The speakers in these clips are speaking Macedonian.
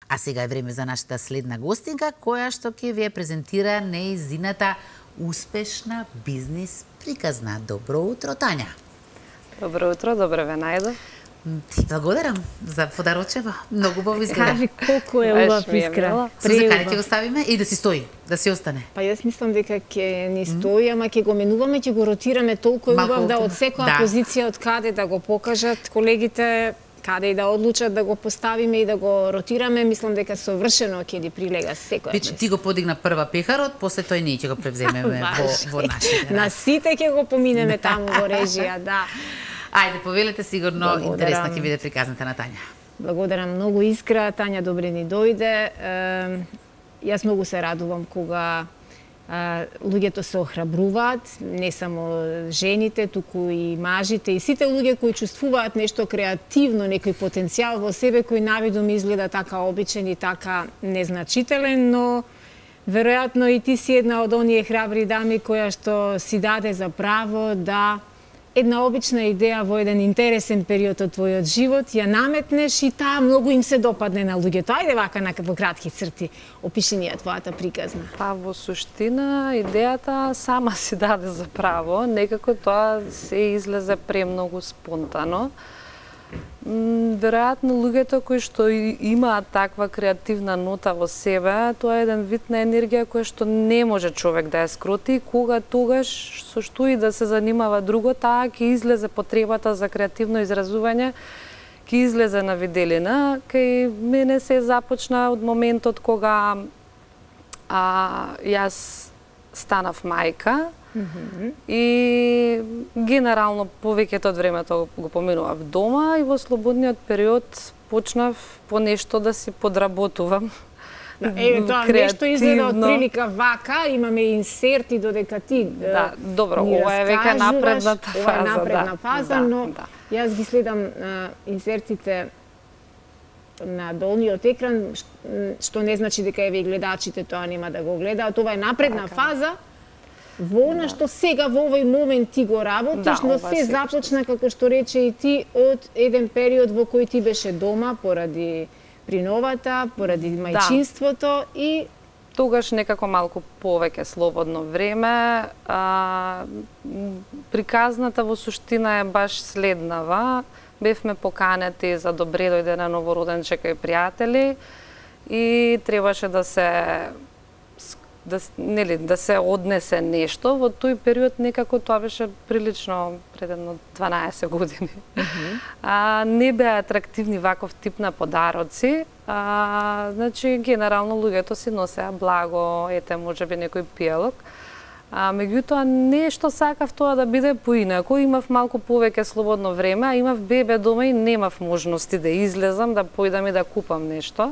А сега е време за нашата следна гостинка, која што ќе ви ја презентира нејзината успешна бизнис приказна. Добро утро, Тања. Добро утро, добре ве најдов. Ти благодарам за подарочева. Многу убаво изгледа. Кажи колку е убав искра. Суза, каде ќе го ставиме и да си стои, да си остане? Па јас мислам дека ќе ни стои, ама ќе го менуваме, ќе го ротираме, толку е убав да од секоја позиција од каде да го покажат колегите, каде и да одлучат да го поставиме и да го ротираме, мислам дека совршено ќе ни прилега секоја. Биче, ти го подигна прва пехарот, после тој ние ќе го превземеме во нашите. На сите ќе го поминеме таму во режија, да. Ајде, повелете, сигурно интересна ќе биде приказната на Тања. Благодарам многу Искра, Тања добре ни дојде. Јас многу се радувам кога луѓето се охрабруваат, не само жените, туку и мажите и сите луѓе кои чувствуваат нешто креативно, некој потенцијал во себе кој навидом изгледа така обичен и така незначителен, но веројатно и ти си една од оние храбри дами која што си даде за право да една обична идеја во еден интересен период од твојот живот, ја наметнеш и таа многу им се допадне на луѓето. Ајде вака во кратки црти, опиши ни ја твојата приказна. Па во суштина идејата сама си даде за право, некако тоа се излезе премногу спонтано. Веројатно луѓето кои што имаат таква креативна нота во себе, тоа е еден вид на енергија која што не може човек да ја скроти, кога тогаш со што и да се занимава друго, таа ќе излезе потребата за креативно изразување, ќе излезе на виделина. Кај мене се започна од моментот кога јас станав мајка, и генерално повеќето од времето го поминував дома и во слободниот период почнав по нешто да си подработувам. Тоа нешто изгледа од прилика вака, имаме инсерти додека ти да, добро, ова е веќе напредната фаза. Ова е напредна фаза, но јас ги следам инсертите на долниот екран, што не значи дека еве гледачите тоа нема да го гледаат. Ова е напредна фаза, во она што сега во овој момент ти го работиш, но се започна, како што рече и ти, од еден период во кој ти беше дома поради приновата, поради мајчинството и тогаш некако малку повеќе слободно време. Приказната во суштина е баш следнава. Бевме поканети за добре дојде на новороденче кај пријатели и требаше да се однесе нешто. Во тој период некако тоа беше прилично пред 12 години. Не беа атрактивни ваков тип на подароци. Значи, генерално луѓето си носеа благо, ете, можеби некој пијалок. Меѓутоа, нешто сакав тоа да биде поинаку. Имав малку повеќе слободно време, а имав бебе дома и немав можности да излезам, да појдам и да купам нешто.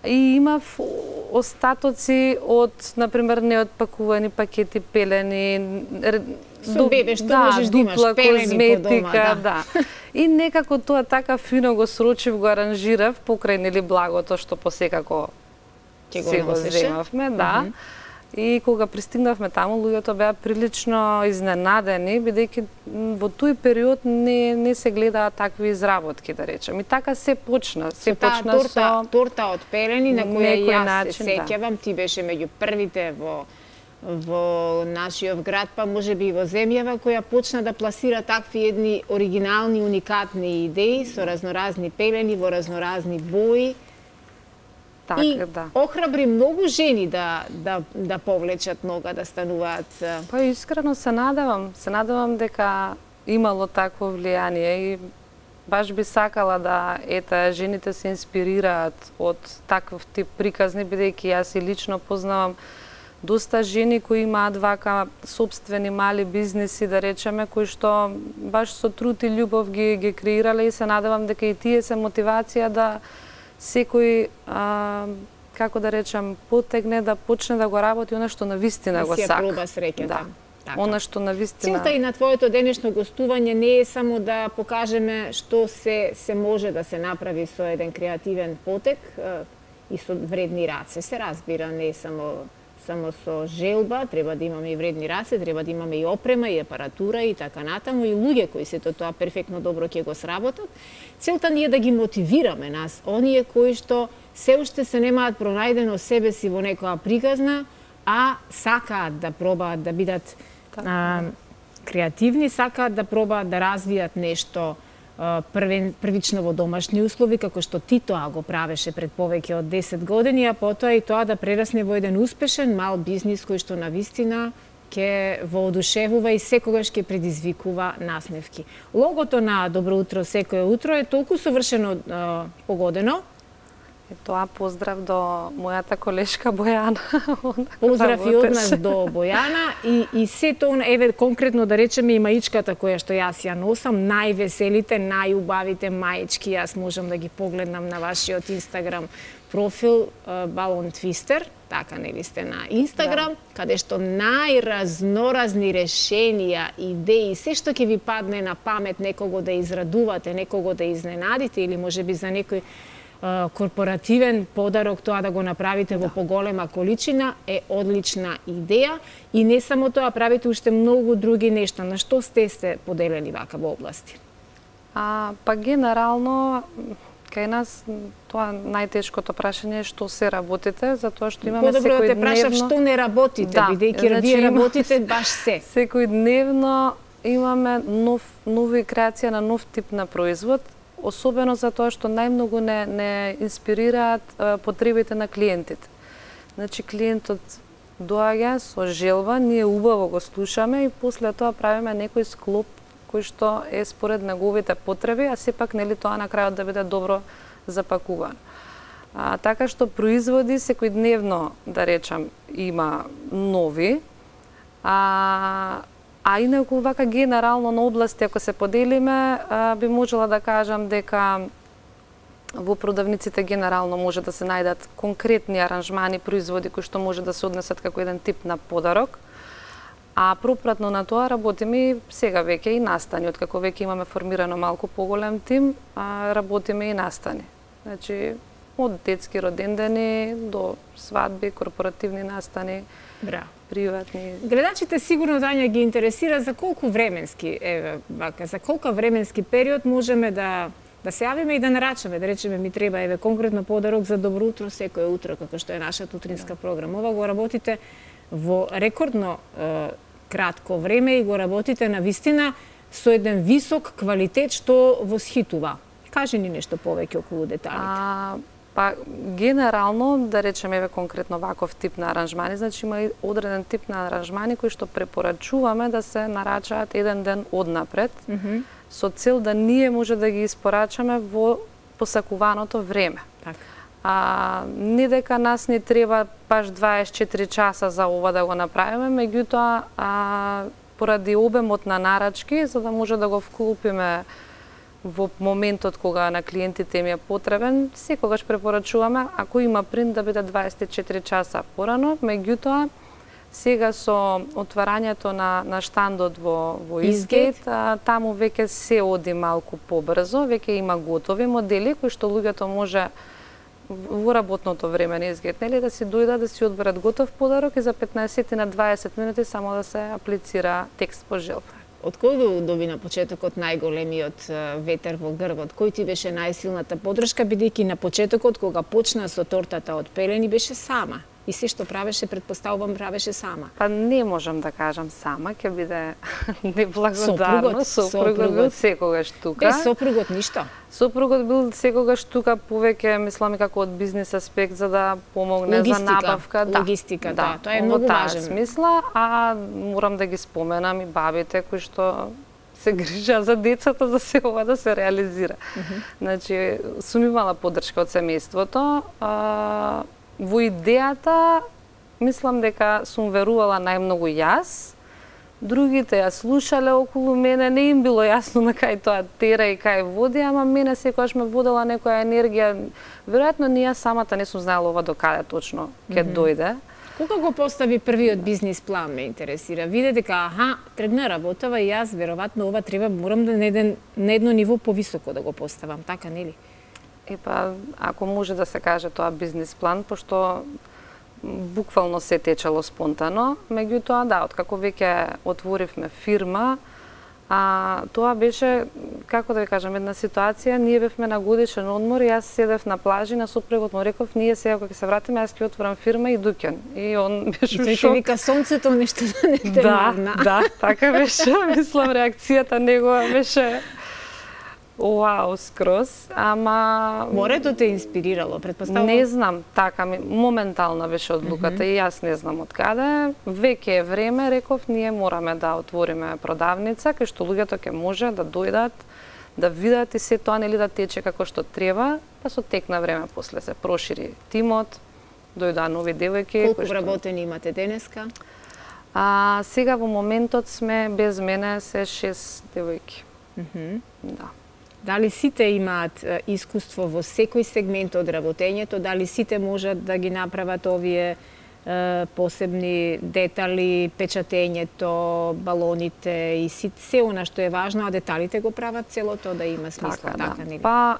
И имав остатоци од, например, неотпакувани пакети пелени, со бебе што можеш да имаш пелени по дома, да. И некако тоа така фино го срочив, го аранжирав покрај нели благото што посекако ќе го земавме, да. И кога пристигнавме таму, луѓето беа прилично изненадени, бидејќи во тој период не се гледаа такви изработки, да речем. И така се почна. Се почна со торта од пелени на која јас се сеќавам, ти беше меѓу првите во нашиот град, па можеби и во земјава, која почна да пласира такви едни оригинални, уникатни идеи со разноразни пелени во разноразни бои. И охрабри многу жени да повлечат нога, да стануваат. Па искрено се надевам дека имало такво влијание и баш би сакала да жените се инспирираат од таков тип приказни, бидејќи јас и лично познавам доста жени кои имаат вака сопствени мали бизнеси, да речеме, кои што баш со труд и љубов ги креирале и се надевам дека и тие се мотивација да секој, како да речем, потегне да почне да го работи она што навистина го сака. Да си ја проба среќата. Она што навистина. Целта и на твоето денешно гостување не е само да покажеме што се може да се направи со еден креативен потек и со вредни раце. Се разбира, не е само со желба, треба да имаме и вредни раце, треба да имаме и опрема, и апаратура и така натаму, и луѓе кои сето тоа перфектно добро ќе го сработат. Целта ни е да ги мотивираме нас, оние кои што се уште се немаат пронајдено себе си во некоја приказна, а сакаат да пробаат да бидат креативни, сакаат да пробаат да развијат нешто првично во домашни услови, како што Титоа го правеше пред повеќе од 10 години, а потоа и тоа да прерасне во еден успешен мал бизнис кој што навистина ќе воодушевува и секогаш ќе предизвикува насмевки. Логото на Добро утро секое утро е толку совршено погодено. И тоа поздрав до мојата колешка Бојана. Поздрав и од нас до Бојана и сето, еве конкретно да речеме и маичката која што јас ја носам, највеселите, најубавите маички, јас можам да ги погледнам на вашиот Инстаграм профил Балон Твистер, така нели сте на Инстаграм, каде што најразноразни решенија, идеи, се што ќе ви падне на памет некого да израдувате, некого да изненадите или можеби за некој корпоративен подарок, тоа да го направите во поголема количина е одлична идеја и не само тоа, правите уште многу други нешта. На што сте се поделени вака во области? Па генерално кај нас тоа најтешкото прашање е што се работите, затоа што имаме секојдневно... Подобро да те прашав што не работите, бидејќи вие работите баш се. Секојдневно имаме нови креација на нов тип на производ, особено затоа што најмногу не инспирираат потребите на клиентите. Значи, клиентот доаѓа со желба, ние убаво го слушаме и после тоа правиме некој склоп кој што е според неговите потреби, а сепак нели тоа на крајот да биде добро запакувано. Така што производи секојдневно, да речам, има нови, а инаку вака генерално на области, ако се поделиме, би можела да кажам дека во продавниците генерално може да се најдат конкретни аранжмани, производи кои што може да се однесат како еден тип на подарок. А пропратно на тоа работиме и сега веќе и настани, откако веќе имаме формирано малку поголем тим, работиме и настани. Значи, од детски родендени до свадби, корпоративни настани. Браво. Приватни. Гледачите сигурно Тања ги интересира за колку временски, за колку временски период можеме да се јавиме и да нарачаме, да речеме ми треба конкретно подарок за Добро утро секое утро, како што е нашата утринска програма. Ова го работите во рекордно кратко време и го работите на вистина со еден висок квалитет што восхитува. Кажи ни нешто повеќе околу деталите. Па, генерално, да речеме конкретно ваков тип на аранжмани, значи има одреден тип на аранжмани кои што препорачуваме да се нарачаат еден ден однапред, со цел да ние може да ги испорачаме во посакуваното време. Не дека нас не треба баш 24 часа за ова да го направиме, меѓутоа поради обемот на нарачки, за да може да го вклупиме во моментот кога на клиентите им е потребен, секогаш препорачуваме, ако има принт, да биде 24 часа порано, меѓутоа сега со отварањето на штандот во Изгейт, таму веќе се оди малку побрзо, веќе има готови модели кои што луѓето може во работното време на Изгейт, нели, да си дојдат да си одберат готов подарок и за 15 на 20 минути само да се аплицира текст по желба. Од кој го доби на почетокот најголемиот ветер во грбот? Кој ти беше најсилната подршка, бидејќи на почетокот кога почна со тортата од пелени беше сама? И се што правеше, предпоставувам, правеше сама. Па не можам да кажам сама, ќе биде неблагодарно. Сопругот бил секогаш тука. Без сопругот ништо? Сопругот бил секогаш тука, повеќе, мислам, како од бизнес аспект, за да помогне за набавка. Логистика, да. Тоа е многу важен. Смисла, а морам да ги споменам и бабите кои што се грижа за децата, за се ова да се реализира. Значи, сум имала поддршка од семејството. Во идејата, мислам дека сум верувала најмногу јас, другите ја слушале околу мене, не им било јасно на кај тоа тера и кај води, ама мене секогаш ме водела некоја енергија. Веројатно ни јас самата не сум знаела ова до каде точно ќе дојде. Кога го постави првиот бизнис план, ме интересира. Виде дека, тргна работава и јас, веројатно ова треба, морам да на едно ниво повисоко да го поставам, така нели? Ако може да се каже тоа бизнис план, пошто буквално се течело спонтано, меѓутоа да, откако веќе отворивме фирма, А тоа беше, како да ви кажам, една ситуација, ние бевме на годишен одмор и јас седев на плажи, на супругот му реков, ние сега кога ќе се вратиме, јас ќе отворам фирма и дуќан. И он беше и тој шок. ќе вика сонцето нешто да не те мавна. Да, така беше. Мислам, реакцијата негова беше вау, скроз, ама... Морето те инспирирало, претпоставувам? Не знам, така моментална беше одлуката и јас не знам од каде. Веќе е време, реков, ние мораме да отвориме продавница, кај што луѓето ќе може да дојдат, да видат и се тоа нели да тече како што треба, па со тек на време после се прошири тимот, дојдоа нови девојки. Колку вработени имате денеска? Сега во моментот сме без мене се 6 девојки. Да. Дали сите имаат искуство во секој сегмент од работењето? Дали сите можат да ги направат овие посебни детали, печатењето, балоните и се она што е важно, а деталите го прават целото да има смисла, така нели? Па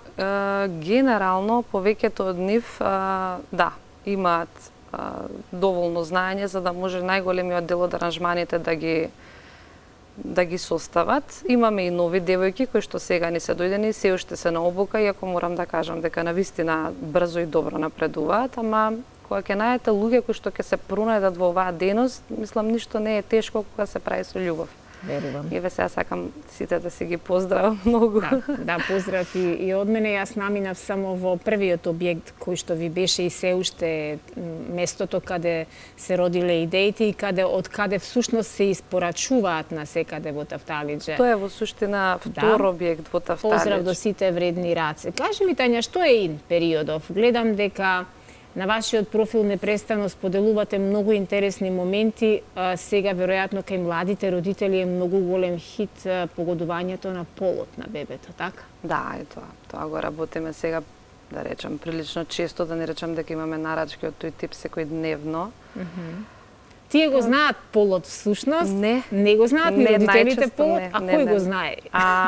генерално повеќето од нив да, имаат доволно знаење за да може најголемиот дел од аранжманите да ги состават. Имаме и нови девојки кои што сега ни се дојдени и се уште се на обука, иако морам да кажам дека навистина брзо и добро напредуваат, ама кога ќе најдете луѓе кои што ќе се пронајдат во оваа дејност, мислам ништо не е тешко кога се прави со љубов. Верувам. И сега сакам сите да си ги поздравам многу. Да, поздрав и од мене. Јас наминав само во првиот објект кој што ви беше и се уште местото каде се родиле идеите и од каде всушност се испорачуваат на секаде во Тафталиџе. Тоа е во суштина втор објект во Тафталиџе. Поздрав до сите вредни раце. Кажи ми, Тања, што е ин периодов? Гледам дека на вашиот профил непрестано споделувате многу интересни моменти. Сега, веројатно, кај младите родители е многу голем хит погодувањето на полот на бебето, така? Да, е тоа. Тоа го работиме сега, да речам, прилично често, да не речам дека имаме нарачки од тој тип секојдневно. Тие го знаат полот всушност? Не го знаат ни родителите полот? А кој го знае?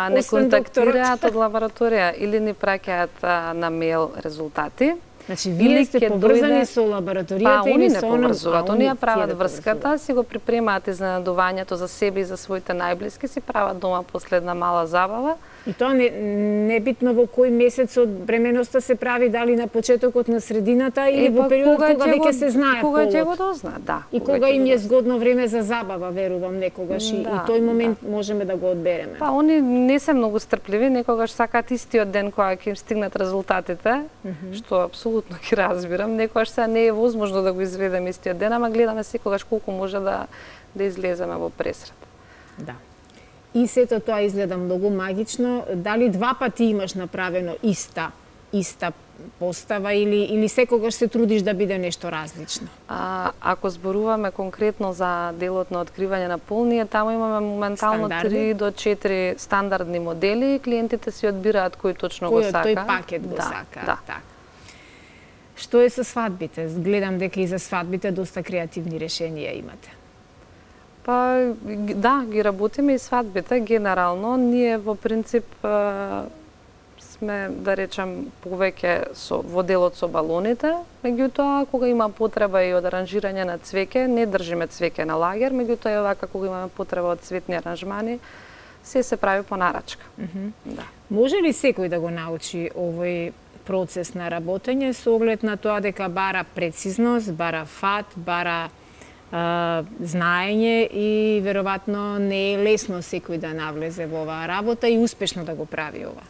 Не контактираат од лабораторија или ни праќаат на мејл резултати. Значи, вие сте поврзани со лабораторијата или со оно? Оние прават врската, си го припремаат изненадувањето за себе и за своите најблиски, си прават дома последна мала забава. И тоа не битно во кој месец од бременоста се прави, дали на почетокот, на средината или во периодот кога веќе се знае полот. Кога ќе го дознаат, да. И кога им е згодно време за забава, верувам, некогаш и тој момент можеме да го одбереме. Па, они не се многу стрпливи, некогаш сакаат истиот ден кога ќе им стигнат резултатите, што апсолутно ги разбирам. Некогаш сега не е возможно да го изведеме истиот ден, ама гледаме секогаш колку може да излеземе во пресрет. Да. И сето тоа изгледа многу магично. Дали два пати имаш направено иста постава или секогаш се трудиш да биде нешто различно? Ако зборуваме конкретно за делот на откривање на пол, ние таму имаме моментално 3 до 4 стандардни модели и клиентите си одбираат кој точно го сака. Тој пакет го сака. Да. Што е со свадбите? Гледам дека и за свадбите доста креативни решенија имате. Па, да, ги работиме и свадбите. Генерално, ние во принцип сме, да речем, повеќе во делот со балоните. Меѓутоа, кога има потреба и од аранжирање на цвеќе, не држиме цвеќе на лагер, меѓутоа и овака кога имаме потреба од цветни аранжмани, се прави по нарачка. Да. Може ли секој да го научи овој процес на работење со оглед на тоа дека бара прецизност, бара фат, бара знаење и веројатно не е лесно секој да навлезе во оваа работа и успешно да го прави ова?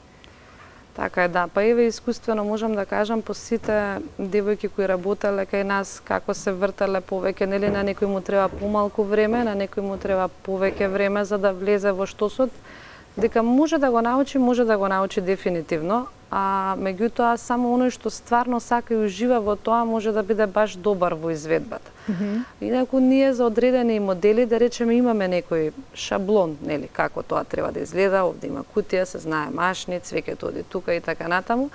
Така е, да. Па еве искуствено можам да кажам по сите девојки кои работеле кај нас како се вртеле повеќе, нели на некој му треба помалку време, на некој му треба повеќе време за да влезе во штосот, дека може да го научи дефинитивно, а меѓутоа само оној што стварно сака и ужива во тоа може да биде баш добар во изведбата. Инаку ние за одредени модели, да речеме, имаме некој шаблон, нели, како тоа треба да изгледа, овде има кутија, се знае машни, цвеќето оди тука и така натаму.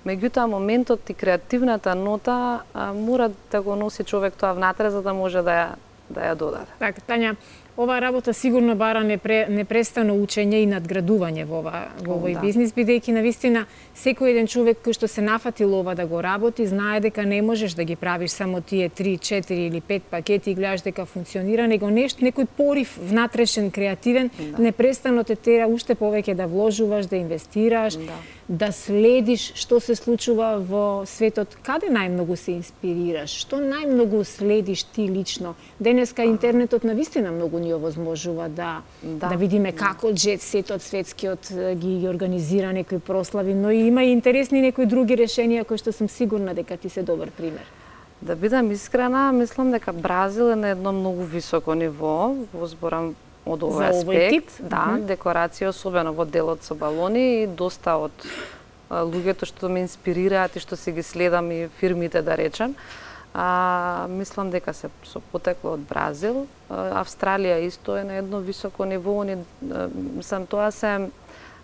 Меѓутоа моментот и креативната нота мора да го носи човек тоа внатре за да може да ја додаде. Така, Тања, Оваа работа сигурно бара непрестано учење и надградување во овој бизнис, бидејќи навистина секој еден човек кој што се нафатил ова да го работи, знае дека не можеш да ги правиш само тие 3, 4 или 5 пакети и гледаш дека функционира, него некој порив внатрешен, креативен, непрестано те тера уште повеќе да вложуваш, да инвестираш, да следиш што се случува во светот, каде најмногу се инспирираш, што најмногу следиш ти лично. Денеска интернетот навистина многу ни овозможува да видиме како джет сетот светскиот ги организира некои прослави, но и има и интересни некои други решенија кои што сум сигурна дека ти се добар пример. Да бидам искрена, мислам дека Бразил е на едно многу високо ниво во зборам од овој аспект. Да, декорација, особено во делот со балони, и доста од луѓето што ме инспирираат и што си ги следам и фирмите, да речем, мислам дека се со потекло од Бразил. Австралија исто е на едно високо ниво. Мислам, тоа се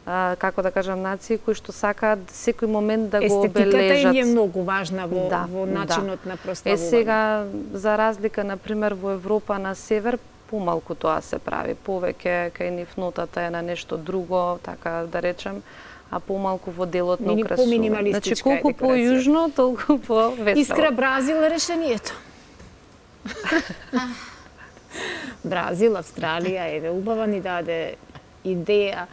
како да кажам, нации кои што сакаат секој момент да го обележат. Естетиката е многу важна во начинот на прославување. Сега, за разлика, например, во Европа на север, помалку тоа се прави. Повеќе кај нив нотата е на нешто друго, така да речем, а помалку во делот на украсување. Значи, колку по-јужно, толку по-весело. Искра Бразил е решението. Бразил, Австралија, еве, убава ни даде идеја.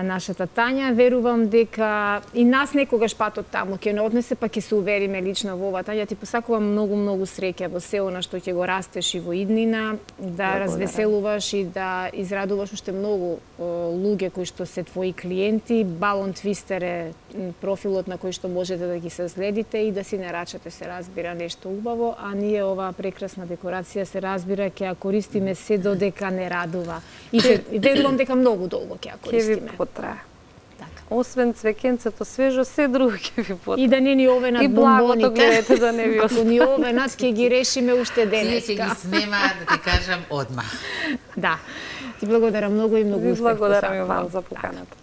Нашата Тања, верувам дека и нас некогаш патот таму ќе не однесе, па ќе се увериме лично во ова. Тања, ти посакувам многу среќа во се она што ќе го растеш и во иднина, да развеселуваш и да израдуваш уште многу луѓе кои што се твои клиенти. Балон Твистер е профилот на кој што можете да ги се следите и да си нарачате, се разбира, нешто убаво, а ние оваа прекрасна декорација, се разбира, ќе ја користиме се додека не радува. И верувам дека многу долго ќе ја користиме. Потрае. Освен цвекенцето свежо, се друго ќе ви потрае. И да не ни овенат бомбоните. И благото гледате да не ви остане. Ако ни овенат, ќе ги решиме уште денеска. Тие ќе ги снемаат, да ти кажам, одма. Да. Ти благодарам многу и многу успех. Благодарам и вам за поканата.